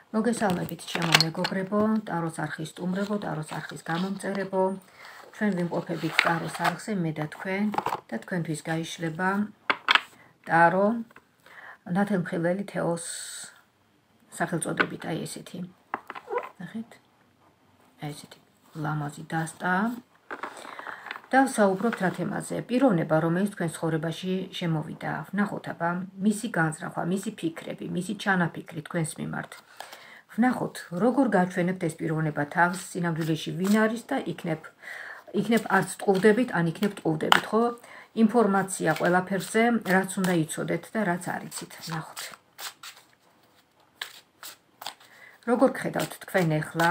მოგესალმებით ჩემო მეგობრებო, ტაროს არხის სტუმრებო, ტაროს არხის გამომწერებო. ჩვენ ვიმყოფებით ტაროს არხზე, მე და თქვენთვის გაიშლება ტარო ნათელმხილველი თეოს სახელწოდებით, აი ესეთი. ნახეთ? აი ესეთი ლამაზი დასტა. და საუბრობთ რა თემაზე? პიროვნება, რომელიც თქვენ ცხოვრებაში შემოვიდა. ვნახოთ აბა, მისი განზრახვა, მისი ფიქრები, მისი ჩანაფიქრი თქვენს მიმართ. ვნახოთ, როგორ გაჩვენებთ ეს პიროვნება თავს სინამდვილეში ვინ არის და იქნებ არც ტყუვდებით, ან იქნებ ტყუვდებით, ხო? ინფორმაცია ყველაფერზე, რაც უნდა იცოდეთ და რაც არ იცით. ვნახოთ. როგორ გხედავთ თქვენ ახლა?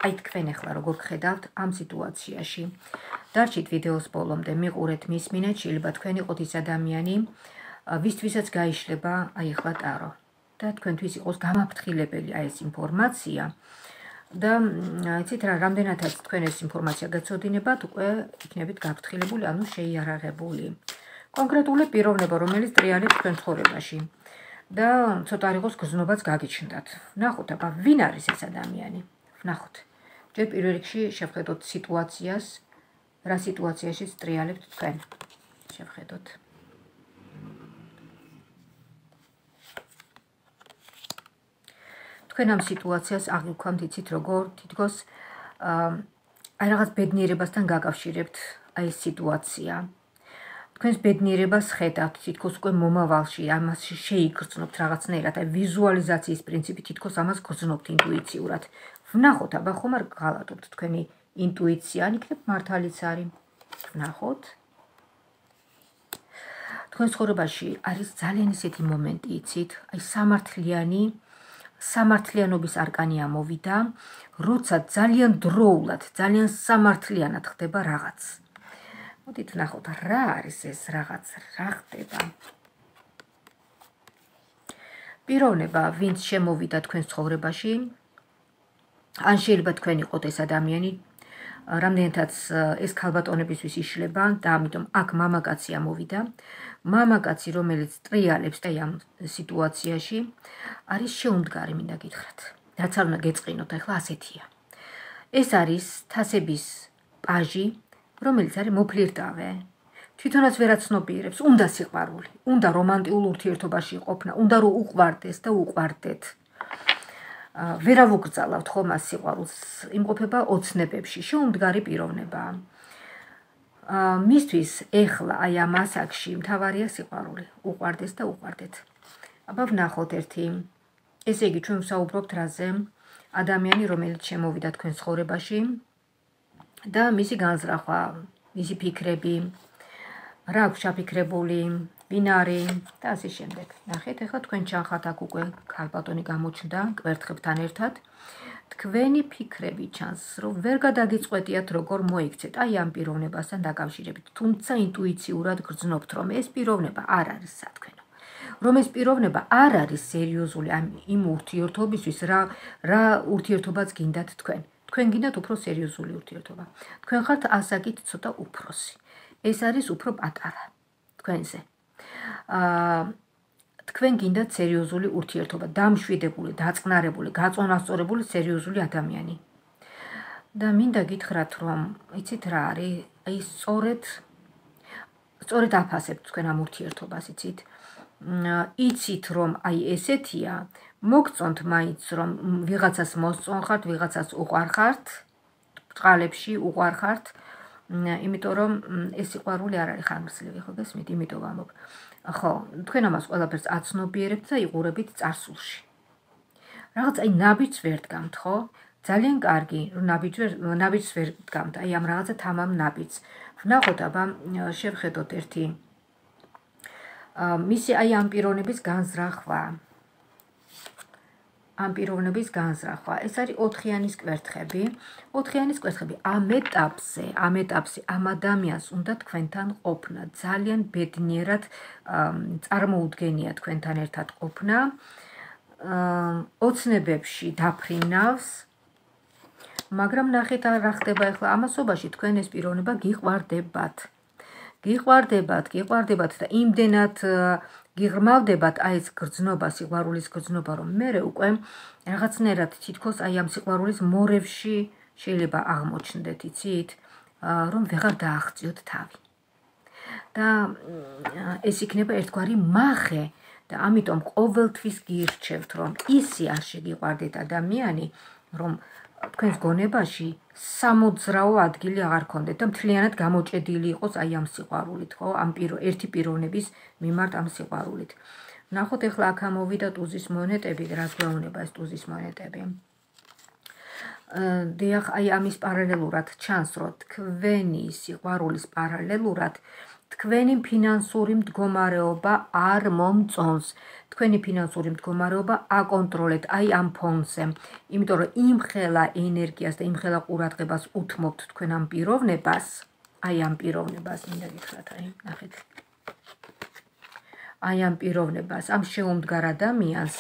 აი თქვენ ახლა როგორ გხედავთ ამ სიტუაციაში? დარჩით ვიდეოს ბოლომდე, მიყურეთ, მისმინეთ, შეიძლება თქვენ იყოთ ის ადამიანი, ვისთვისაც გაიშლება აი ახლა ტარო. და თქვენთვის იყოს გამაფრთხილებელი აი ეს ინფორმაცია და იცით რა, რამდენადაც თქვენ ეს ინფორმაცია გეცოდინებათ, უკვე იქნებით გაფრთხილებული, ანუ შეიარაღებული. კონკრეტული პიროვნება, რომელიც ტრიალებს თქვენ ცხოვრებაში და ცოტა არ იყოს გზნობაც გაგიჩნდათ. ვნახოთ აბა, ვინ არის ეს ადამიანი? ვნახოთ. ჯერ პირველ რიგში შევხედოთ სიტუაციას, რა სიტუაციაშიც ტრიალებთ თქვენ. შევხედოთ. თქვენ ამ სიტუაციას აღიქვამთ, იცით როგორ, თითქოს აი რაღაც ბედნიერებასთან გაკავშირებთ აი ეს სიტუაცია. თქვენს ბედნიერებას ხედავთ, თითქოს უკვე მომავალში, ამას შეიგრძნობთ რაღაცნაირად, აი ვიზუალიზაციის პრინციპი, თითქოს ამას გრძნობთ ინტუიციურად. ვნახოთ, აბა ხომ არ გღალატობთ თქვენი ინტუიცია, ან იქნებ მართალიც არის. ვნახოთ. თქვენ ცხოვრებაში არის ძალიან ისეთი მომენტი, იცით, აი სამართლიანობის არკანი ამოვიდა, როცა ძალიან დროულად, ძალიან სამართლიანად ხდება რაღაც. მოდით ვნახოთ, რა არის ეს რაღაც, რა ხდება. პიროვნება, ვინც შემოვიდა თქვენს ცხოვრებაში, ან შეიძლება თქვენ იყოთ ეს ადამიანი, რამდენადაც ეს ქალბატონებისთვის იშლება და ამიტომ აქ მამაკაცი ამოვიდა. მამაკაცი, რომელიც ტრიალებს და ამ სიტუაციაში არის შეუმდგარი, მინდა გითხრათ. რაც არ უნდა გეწყინოთ, ახლა ასეთია. ეს არის თასების პაჟი, რომელიც არის მოფლირტავე. თვითონაც ვერაცნობიერებს, უნდა სიყვარული, უნდა რომანტიულ ურთიერთობაში ყოფნა, უნდა რომ უყვარდეს და უყვარდეთ. ვერა ვუკრძალავთ ხომ ამ სიყვარულს, იმყოფება ოცნებებში, შეუმდგარი პიროვნება. მისთვის ეხლა აი ამ ასაკში მთავარია სიყვარული, უყვარდეს და უყვარდეთ. აბა ვნახოთ ერთი. ესე იგი, ჩვენ ვსაუბრობთ რაზე? ადამიანი, რომელიც შემოვიდა თქვენ ცხოვრებაში და მისი განზრახვა, მისი ფიქრები, რა აქვს ჩაფიქრებული, ვინ არის და ასე შემდეგ. ნახეთ, ახლა თქვენ ჩანხართ აქ უკვე ქალბატონი გამოჩნდა კვერთხებთან ერთად. თქვენი ფიქრები ჩანს, რომ ვერ გადაგიწყვეტიათ როგორ მოიქცეთ აი ამ პიროვნებასთან დაკავშირებით. თუმცა ინტუიციურად გრძნობთ, რომ ეს პიროვნება არ არის სათქვენო. რომ ეს პიროვნება არ არის სერიოზული იმ ურთიერთობისთვის, რა ურთიერთობაც გინდათ თქვენ. თქვენ გინდათ უფრო სერიოზული ურთიერთობა. თქვენ ხართ ასაკით ცოტა უფროსი. ეს არის უფრო პატარა თქვენზე. თქვენ გინდათ სერიოზული ურთიერთობა, დამშვიდებული, დაწყნარებული, გაწონასწორებული სერიოზული ადამიანი. და მინდა გითხრათ, რომ იცით რა არის, აი სწორედ აფასებთ თქვენ ამ ურთიერთობას, იცით. იცით რომ აი ესეთია, მოგწონთ მაინც რომ ვიღაცას მოსწონხართ, ვიღაცას უყვარხართ, წყალებში უყვარხართ, იმიტომ რომ ეს სიყვარული არ არის ხანგრძლივი, ხო გესმით, იმიტომ ვამბობ. ხო, თქვენ ამას ყველაფერს აცნობიერებთ და იყურებით წარსულში. რაღაც აი ნაბიჯს ვერ დგამთ, ხო? ძალიან კარგი, რომ ნაბიჯს ვერ დგამთ, აი ამ რაღაცა თამამ ნაბიჯს. ვნახოთ აბა, შევხედოთ ერთი. მისი აი ამ პიროვნების განზრახვა. ამ პიროვნების განზრახვა. ეს არის 4-იანის კვერთხები. 4-იანის კვერთხები ამ ეტაპზე ამ ადამიანს უნდა თქვენთან ყოფნა. ძალიან ბედნიერად წარმოუდგენია თქვენთან ერთად ყოფნა. ოცნებებში დაფრინავს. მაგრამ ნახეთ რა ხდება ახლა ამასობაში თქვენ ეს პიროვნება გიყვარდებათ. გიყვარდებათ და იმდენად გიღრმავდებათ აი ეს გრძნობა, სიყვარულის გრძნობა, რომ მე უკვე რაღაცნაირად თითქოს აი ამ სიყვარულის მორევში შეიძლება აღმოჩნდეთ, იცით, რომ ვეღარ დააღწიოთ თავი. და ეს იქნება ერთგვარი მახე და ამიტომ ყოველთვის გირჩევთ, რომ ისე არ შეგიყვარდეთ ადამიანი, რომ თქვენს გონებაში სამოძრაო ადგილი აღარ ქონდეთ და მთლიანად გამოჭედილი იყოს აი ამ სიყვარულით, ხო? ამ ერთი პიროვნების მიმართ ამ სიყვარულით. ნახოთ ახლა აქ ამოვიდა ტუზის მონეტები, რას გვეუბნება ეს ტუზის მონეტები. დიახ, აი ამის პარალელურად ჩანს, რომ თქვენი სიყვარულის პარალელურად თქვენი ფინანსური მდგომარეობა არ მომწონს. თქვენი ფინანსური მდგომარეობა აკონტროლეთ აი ამ ფონზე. იმიტომ რომ იმხელა ენერგიას და იმხელა ყურადღებას უთმობთ თქვენ ამ პიროვნებას, აი ამ პიროვნებას, მინდა გითხრათ, აი, ნახეთ. აი ამ პიროვნებას, ამ შეუმდგარ ადამიანს,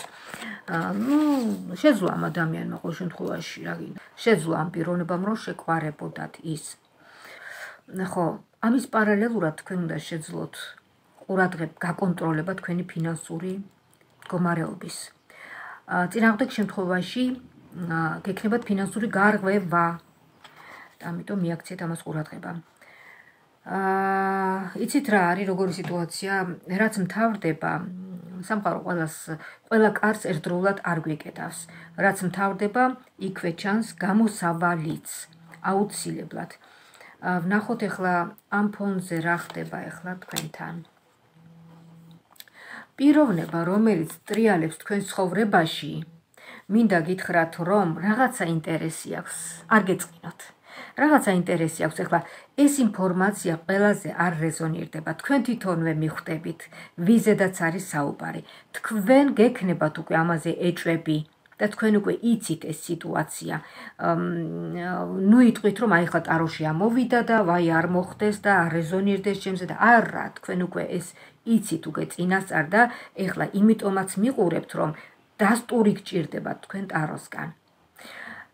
შეძლო ამ ადამიანმა ყოველ შემთხვევაში, რა გინდა, შეძლო ამ პიროვნებამ რომ შეყვარებოდათ ის. ხო, ამის პარალელურად თქვენ უნდა შეძლოთ გაკონტროლება თქვენი ფინანსური მდგომარეობის. წინააღმდეგ შემთხვევაში გექნებათ ფინანსური გარღვევა. ამიტომ მიაქციეთ ამას ყურადღება. იცით რა არის როგორი სიტუაცია, რაც მთავრდება, სამყარო ყველა კარს ერთდროულად არ გვიკეტავს. რაც მთავრდება, იქვე ჩანს გამოსავალიც, აუცილებლად. ვნახოთ ახლა ამ ფონზე რა ხდება ახლა თქვენთან. პიროვნება, რომელიც ტრიალებს თქვენ ცხოვრებაში, მინდა გითხრათ, რომ რაღაცა ინტერესი აქვს, არ გეწყინოთ. რაღაცა ინტერესი აქვს, ახლა ეს ინფორმაცია ყველაზე არ რეზონირდება, თქვენ თვითონვე მიხვდებით, ვიზედაც არის საუბარი. თქვენ გექნებათ უკვე ამაზე ეჭვები და თქვენ უკვე იცით ეს სიტუაცია. ნუ იტყვით, რომ აი ხა ტაროში ამოვიდა და ვაი არ მოხდეს და არ რეზონირდეს ჩემზე და არა, თქვენ უკვე ეს იცით უკვე წინასწარ და ეხლა იმიტომაც მიყურებთ, რომ დასტური გჭირდებათ თქვენ ტაროსგან.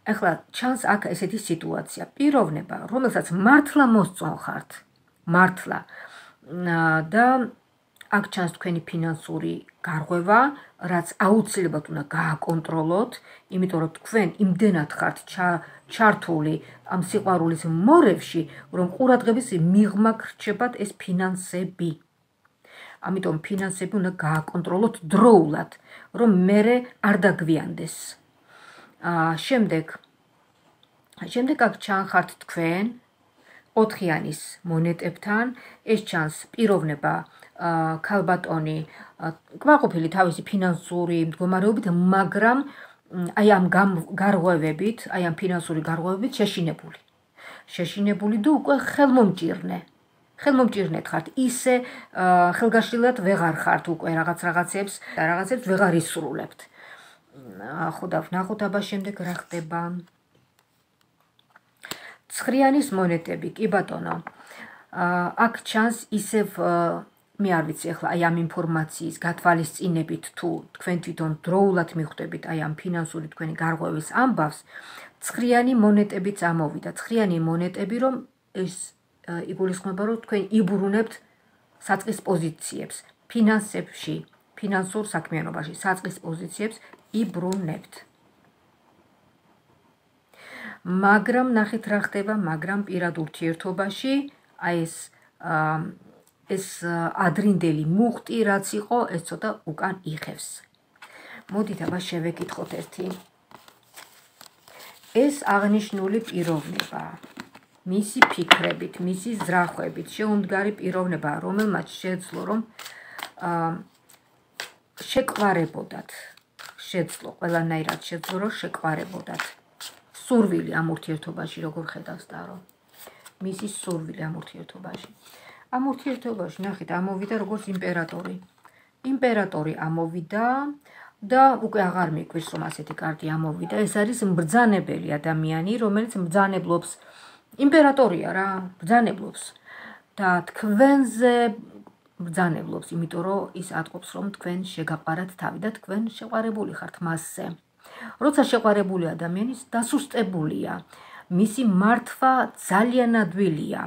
ახლა ჩანს აქ ესეთი სიტუაცია, პიროვნება, რომელსაც მართლა მოსწონხართ, მართლა და აქ ჩანს თქვენი ფინანსური გარღვევა, რაც აუცილებლად უნდა გააკონტროლოთ, იმიტომ რომ თქვენ იმდენად ხართ ჩართული ამ სიყვარულის მორევში, რომ ყურადღების მიღმა გრჩებათ ეს ფინანსები. ამიტომ ფინანსები უნდა გააკონტროლოთ დროულად, რომ მერე არ დაგვიანდეს. შემდეგ აქ ჩანხართ თქვენ 4-იანის მონეტებთან, ეს ჩანს პიროვნება, ქალბატონი, კმაყოფილი თავისი ფინანსური მდგომარეობით, მაგრამ აი ამ გარღვევებით, აი ამ ფინანსური გარღვევებით შეშინებული და უკვე ხელმომჭირნეთ ხართ, ისე ხელგაშლილად ვეღარ ხართ უკვე რაღაცებს ვეღარ ისრულებთ. ხო და ვნახოთ აბა შემდეგ რა ხდება. 9-იანის მონეტები, კი ბატონო. აქ ჩანს ისევ მე არ ვიცი ახლა აი ამ ინფორმაციის გათვალისწინებით თუ თქვენ თვითონ დროულად მიხვდებით აი ამ ფინანსური თქვენი გარღვევის ამბავს, 9-იანი მონეტებიც ამოვიდა. 9-იანი მონეტები, რომ ეს იგულისხმება, რომ თქვენ იბრუნებთ საწყის პოზიციებს, ფინანსებში, ფინანსურ საქმიანობაში, საწყის პოზიციებს იბრუნებთ. მაგრამ ნახეთ რა ხდება, მაგრამ პირად ურთიერთობაში აი ეს ადრინდელი მუხტი რაც იყო, ეს ცოტა უკან იხევს. მოდით აბა შევეკითხოთ ერთი. ეს აღნიშნული პიროვნება, მისი ფიქრებით, მისი ზრახვებით, შეუმდგარი პიროვნება, რომელმაც შეძლო რომ შეყვარებოდათ, ყველანაირად შეძლო რომ შეყვარებოდათ. სურვილი ამ ურთიერთობაში როგორ ხედავს ტარო? მისი სურვილი ამ ურთიერთობაში. ამ ურთიერთობაში ნახეთ ამოვიდა როგორც იმპერატორი. იმპერატორი ამოვიდა და უკვე აღარ მიკვირს რომ ასეთი კარტი ამოვიდა. ეს არის მბრძანებელი ადამიანი, რომელიც მბრძანებლობს. იმპერატორია რა, მბრძანებლობს და თქვენზე მბრძანებლობს, იმიტომ რომ ის ატყობს რომ თქვენ შეგაყარათ თავი და თქვენ შეყვარებული ხართ მასზე. როცა შეყვარებული ადამიანის დასუსტებულია, მისი მართვა ძალიან ადვილია,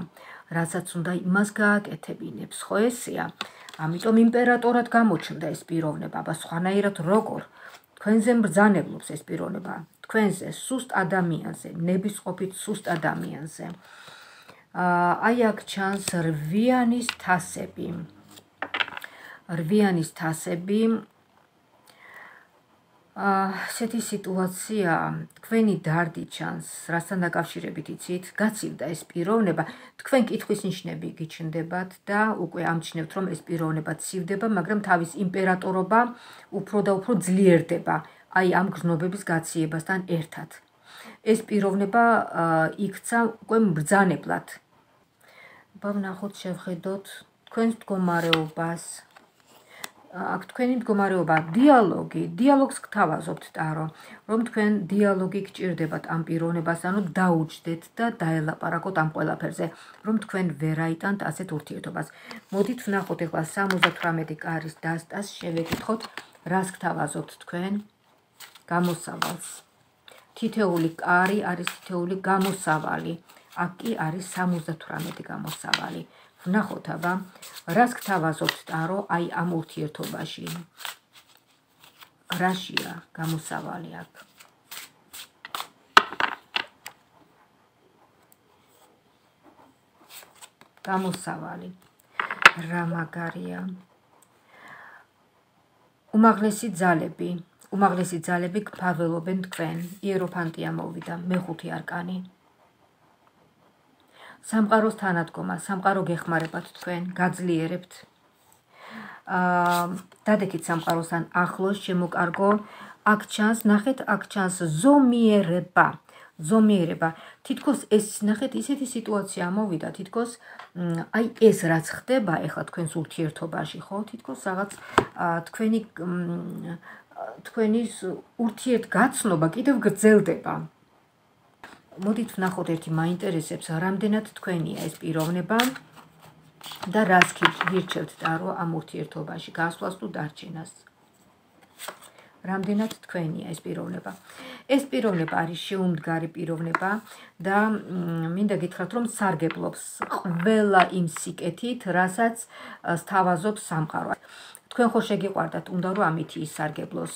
რასაც უნდა იმას გააკეთებინებს, ხო ესეა? ამიტომ იმპერატორად გამოჩნდა ეს პიროვნება, აბა სხვანაირად როგორ თქვენზე მბრძანებლობს ეს პიროვნება, თქვენზე სუსტ ადამიანზე, ნებისყოფით სუსტ ადამიანზე. აი აქ ჩანს რვიანის თასები. რვიანის თასები ესეთი სიტუაცია, თქვენი დარდი ჩანს, რასთან დაკავშირებით იცით, გაცივდა ეს პიროვნება, თქვენ კითხვის ნიშნები გიჩნდებათ და უკვე ამჩნევთ, რომ ეს პიროვნება ცივდება, მაგრამ თავის იმპერატორობა უფრო და უფრო ძლიერდება, აი ამ გრძნობების გაციებასთან ერთად. ეს პიროვნება იქცა უკვე მბრძანებლად. ვნახოთ, შევხედოთ თქვენს მდგომარეობას. აქ თქვენი მდგომარეობა, დიალოგს გთავაზობთ ტარო, რომ თქვენ დიალოგი გჭირდებათ ამ პიროვნებასთან, რომ დაუჯდეთ და დაელაპარაკოთ ამ ყველაფერზე, რომ თქვენ ვერ აიტანთ ასეთ ურთიერთობას. მოდით ვნახოთ ეხლა 78 კარის დასტას, შევეკითხოთ, რას გთავაზობთ თქვენ გამოსავალს. თითეული კარი არის თითეული გამოსავალი, აქ კი არის 78 გამოსავალი. ვნახოთ აბა, რას გთავაზობთ ტარო აი ამ ურთიერთობაში. რაშია გამოსავალი აქ? გამოსავალი. რა მაგარია? უმაღლესი ძალები გფარველობენ თქვენ. იეროფანტია მოვიდა, მეხუთი არკანი. სამყაროს თანადგომა, სამყარო გეხმარებათ თქვენ, გაძლიერებთ. დადექით სამყაროსთან ახლოს, შემოკარგო. აქ ჩანს, ნახეთ, აქ ჩანს ზომიერება. თითქოს ეს, ნახეთ, ისეთი სიტუაცია მოვიდა, თითქოს აი ეს რაც ხდება ეხლა თქვენს ურთიერთობაში, ხო? თითქოს რაღაც თქვენის ურთიერთგაცნობა კიდევ გრძელდება. მოდით ვნახოთ ერთი მაინტერესებს, რამდენად თქვენია ეს პიროვნება და რას გირჩევთ ტარო ამ ურთიერთობაში, გასვლას თუ დარჩენას. რამდენად თქვენია ეს პიროვნება. ეს პიროვნება არის შეუმდგარი პიროვნება და მინდა გითხრათ, რომ სარგებლობს ყველა იმ სიკეთით, რასაც სთავაზობს სამყარო. თქვენ ხო შეგიყვარდათ, უნდა რომ ამით ისარგებლოს.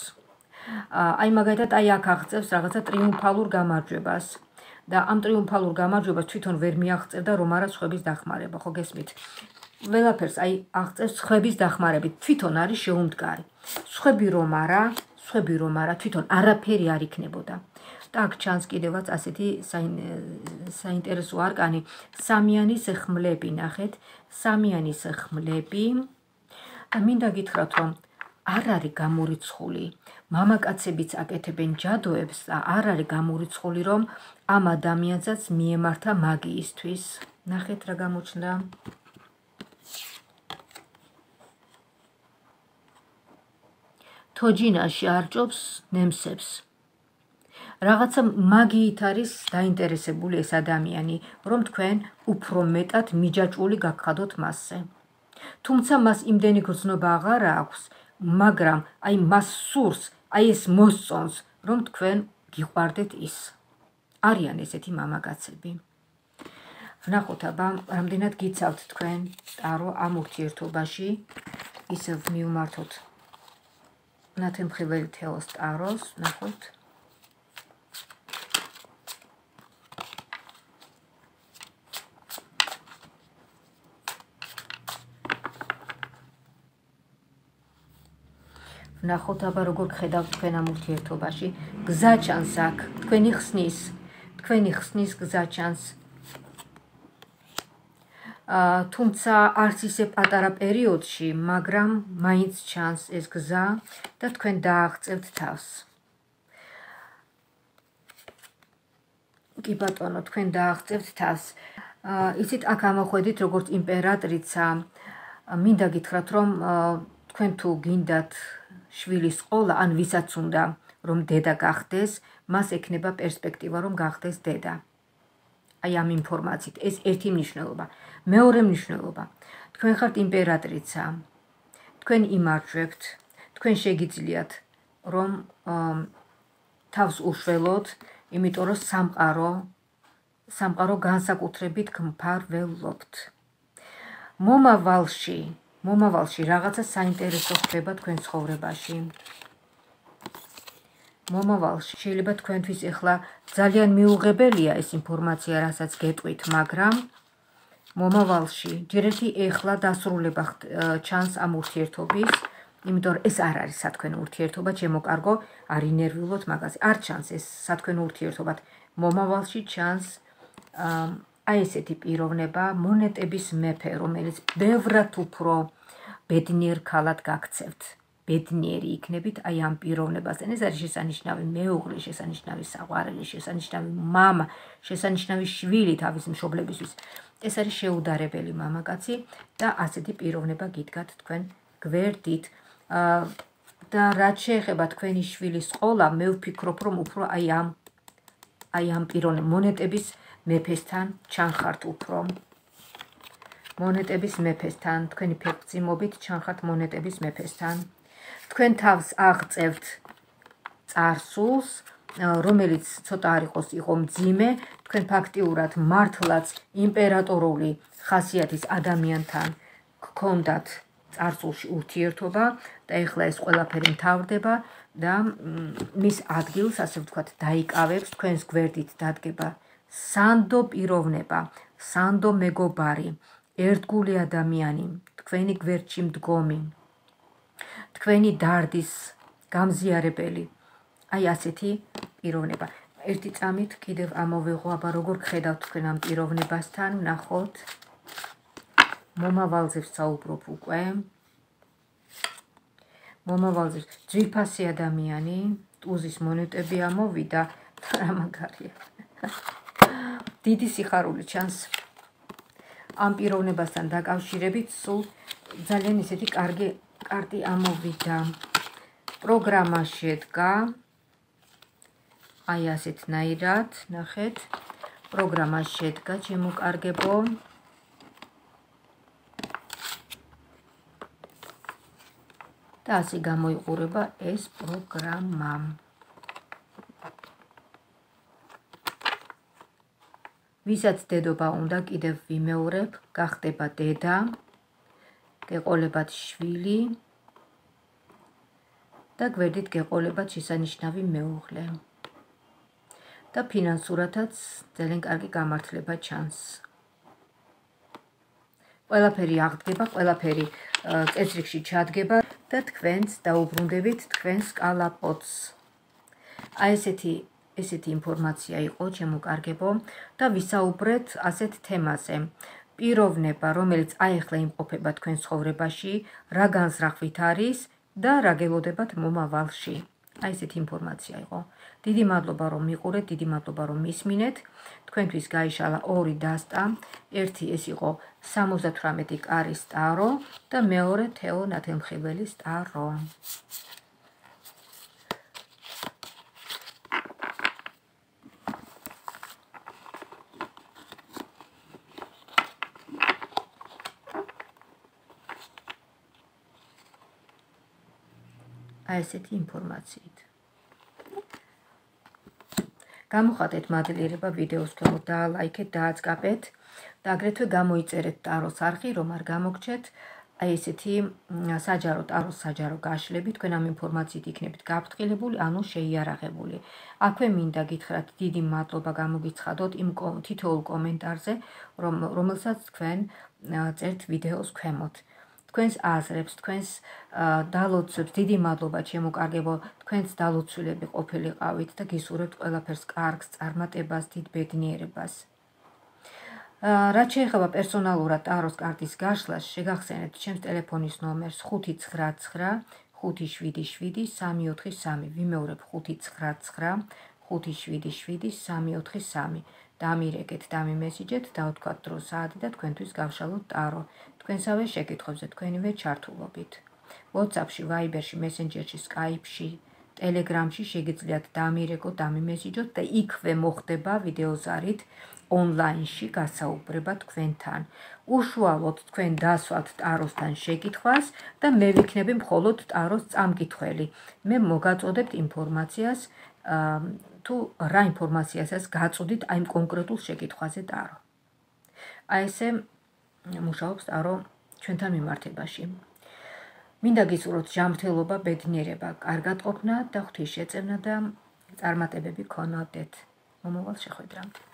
აი მაგალითად, აი აქ აღწევს რაღაცა ტრიუმფალურ გამარჯვებას. და ამ ტრიუმფალურ გამარჯვებას თვითონ ვერ მიაღწევდა რომ არა სხვების დახმარება, ხო გესმით? ყველაფერს აი აღწევს სხვების დახმარებით, თვითონ არის შეუმდგარი. სხვები რომ არა, თვითონ არაფერი არ იქნებოდა. და აქ ჩანს კიდევაც ასეთი საინტერესო არკანი, სამიანის ხმლები, ნახეთ, სამიანის ხმლები. მინდა გითხრათ, რომ არ არის გამორიცხული, მამაკაცებიც აკეთებენ ჯადოებს და არ არის გამორიცხული, რომ ამ ადამიანსაც მიემართა მაგიისთვის. ნახეთ რა გამოჩნდა. თოჯინაში არჭობს ნემსებს. რაღაცა მაგიით არის დაინტერესებული ეს ადამიანი, რომ თქვენ უფრო მეტად მიჯაჭვული გაგხადოთ მასზე. თუმცა მას იმდენი გრძნობა აღარ აქვს, მაგრამ აი მას სურს, აი ეს მოსწონს, რომ თქვენ გიყვარდეთ ის. არიან ესეთი მამაკაცები. ვნახოთ აბა, რამდენად გიცავთ თქვენ ტარო ამ ურთიერთობაში, ისევ მივმართოთ ნათემხილველი თეოს ტაროს, ნახოთ. ვნახოთ აბა როგორ გხედავთ თქვენ ამ ურთიერთობაში. გზა ჩანს აქ, თქვენი ხსნის გზა ჩანს. თუმცა არც ისე პატარა პერიოდში, მაგრამ მაინც ჩანს ეს გზა და თქვენ დააღწევთ თავს. კი ბატონო, თქვენ დააღწევთ თავს. იცით, აქ ამოხვედით როგორც იმპერატრიცა, მინდა გითხრათ, რომ თქვენ თუ გინდათ შვილის ყოლა, ან ვისაც უნდა რომ დედა გახდეს, მას ექნება პერსპექტივა რომ გახდეს დედა. აი ამ ინფორმაციით, ეს ერთი მნიშვნელობა. მეორე მნიშვნელობა, თქვენ ხართ იმპერატრიცა, თქვენ იმარჯვებთ, თქვენ შეგიძლიათ რომ თავს უშველოთ, იმიტომ რომ სამყარო განსაკუთრებით გმფარველობთ. მომავალში მომავალში რაღაცა საინტერესო ხდება თქვენ ცხოვრებაში. მომავალში შეიძლება თქვენთვის ეხლა ძალიან მიუღებელია ეს ინფორმაცია, რასაც გეტყვით, მაგრამ მომავალში ჯერეთი ეხლა დასრულება ჩანს ამ ურთიერთობის, იმიტომ რომ ეს არ არის სათქვენო ურთიერთობა, ჩემო კარგო, არ ინერვიულოთ მაგაზე. არ ჩანს ეს სათქვენო ურთიერთობა. მომავალში ჩანს აი ესეთი პიროვნება, მონეტების მეფე, რომელიც ბევრად უფრო ბედნიერ ქალად გაქცევთ. ბედნიერი იქნებით აი ამ პიროვნებასთან. ეს არის შესანიშნავი მეუღლე, შესანიშნავი საყვარელი, შესანიშნავი მამა, შესანიშნავი შვილი თავის მშობლებისთვის. ეს არის შეუდარებელი მამაკაცი და ასეთი პიროვნება გიდგათ თქვენ გვერდით. და რაც შეეხება თქვენი შვილის ყოლა, მე ვფიქრობ, რომ უფრო აი ამ პიროვნებ მონეტების მეფესთან ჩანხართ უფრო. მონეტების მეფესთან, თქვენი ფერწიმობით ჩანხართ მონეტების მეფესთან. თქვენ თავს აღწევთ წარსულს, რომელიც ცოტა არ იყო მძიმე, თქვენ ფაქტიურად მართლაც იმპერატორული ხასიათის ადამიანთან გქონდათ წარსულში ურთიერთობა და ეხლა ეს ყველაფერი მთავრდება და მის ადგილს, ასე ვთქვათ, დაიკავებს, თქვენს გვერდით დადგება სანდო პიროვნება, სანდო მეგობარი, ერთგული ადამიანი, თქვენი გვერდში მდგომი, თქვენი დარდის გამზიარებელი, აი ასეთი პიროვნება. ერთი წამით კიდევ ამოვიღო, აბა როგორ გხედავთ თქვენ ამ პიროვნებასთან, ნახოთ. მომავალზე ვსაუბრობ უკვე. მომავალზე ძვირფასი ადამიანი, ტუზის მონეტები ამოვიდა, რა მაგარია. დიდი სიხარული ჩანს ამ პიროვნებასთან დაკავშირებით, სულ ძალიან ისეთი კარგი კარტი ამოვიდა. პროგრამა შედგა აი ასეთნაირად, ნახეთ, პროგრამა შედგა, ჩემო კარგებო. და ასე გამოიყურება ეს პროგრამა. ვისაც დედობა უნდა, კიდევ ვიმეორებ, გახდება დედა, გეყოლებათ შვილი და გვერდით გეყოლებათ შესანიშნავი მეუღლე. და ფინანსურათაც ძალიან კარგი გამართლება ჩანს. ყველაფერი აღდგება, ყველაფერი წესრიგში ჩადგება და თქვენც დაუბრუნდებით თქვენს კალაპოტს. აი ესეთი ინფორმაცია იყო, ჩემო კარგებო, და ვისაუბრეთ ასეთ თემაზე. პიროვნება, რომელიც აეხლა იმყოფება თქვენ ცხოვრებაში, რა განზრახვით არის და რა გელოდებათ მომავალში. აი ესეთი ინფორმაცია იყო. დიდი მადლობა რომ მიყურეთ, დიდი მადლობა რომ მისმინეთ. თქვენთვის გაიშალა ორი დასტა. ერთი ეს იყო 78 კარის ტარო და მეორე თეო ნათელმხილის ტარო. აი ესეთი ინფორმაციით. გამოხატეთ მადლიერება ვიდეოს ქვემოთ, დაალაიქეთ, დააწყაბეთ და აგრეთვე გამოიწერეთ ტაროს არხი, რომ არ გამოგჩეთ აი ესეთი საჯარო ტაროს საჯარო გაშლები, თქვენ ამ ინფორმაციით იქნებით გაფრთხილებული, ანუ შეიარაღებული. აქვე მინდა გითხრათ დიდი მადლობა გამოგიცხადოთ იმ თითოეულ კომენტარზე, რომელსაც თქვენ წერთ ვიდეოს ქვემოთ. თქვენს აზრებს, თქვენს დალოცვებს, დიდი მადლობა ჩემო კარგებო, თქვენს დალოცვილები ყოფილიყავით და გისურვებთ ყველაფერს კარგს, წარმატებას, დიდ ბედნიერებას. რაც შეეხება პერსონალურად ტაროს კარტის გაშლას, შეგახსენებთ ჩემს ტელეფონის ნომერს 599 577 343. ვიმეორებ 599 577 343. დამირეკეთ, დამიმესიჯეთ, დავთქვათ დრო საათი და თქვენთვის გავშალოთ ტარო. თქვენსავე შეკითხვებზე თქვენივე ჩართულობით. WhatsApp-ში, Viber-ში, Messenger-ში, Skype-ში, Telegram-ში შეგიძლიათ დამირეკოთ, დამიმესიჯოთ და იქვე მოხდება ვიდეოზარით ონლაინში გასაუბრება თქვენთან. უშუალოდ თქვენ დასვათ ტაროსთან შეკითხვას და მე ვიქნები მხოლოდ ტაროს წამკითხველი. მე მოგაწოდებთ ინფორმაციას თუ რა ინფორმაციასაც გაწოდით აი კონკრეტულ შეკითხვაზე ტარო. აი ესე მუშაობს ტარო ჩვენთან მიმართებაში. მინდა გისურვოთ ჯანმრთელობა, ბედნიერება, კარგად ყოფნა და ღვთის შეწევნა და წარმატებები გქონოდეთ. მომავალ შეხვედრამდე.